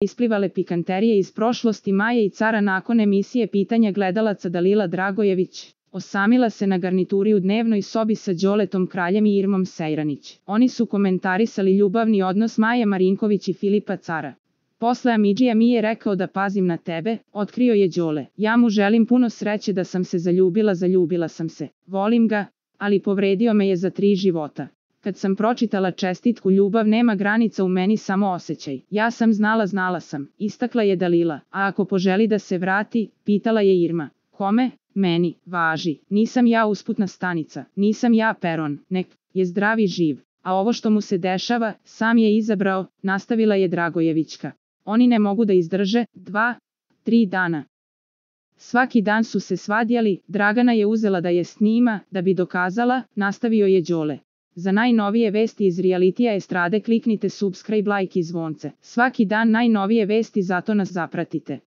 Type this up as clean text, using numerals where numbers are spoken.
isplivale pikanterije iz prošlosti Maje i Cara nakon emisije Pitanja gledalaca. Dalila Dragojević osamila se na garnituri u dnevnoj sobi sa Đoletom Kraljem i Irmom Sejranić. Oni su komentarisali ljubavni odnos Maje Marinković i Filipa Cara. Posle Amidžija mi je rekao da pazim na tebe, otkrio je Đole. Ja mu želim puno sreće, da sam se zaljubila sam se. Volim ga, ali povredio me je za 3 života. Kad sam pročitala čestitku ljubav nema granica u meni, samo osjećaj. Ja sam znala sam, istakla je Dalila. A ako poželi da se vrati, pitala je Irma. Kome? Meni, važi. Nisam ja usputna stanica, nisam ja peron, nek je zdrav i živ. A ovo što mu se dešava, sam je izabrao, nastavila je Dragojevićka. Oni ne mogu da izdrže 2-3 dana. Svaki dan su se svadjali, Dragana je uzela da je snima, da bi dokazala, nastavio je Đole. Za najnovije vesti iz realitija estrade kliknite subscribe, like i zvonce. Svaki dan najnovije vesti, zato nas zapratite.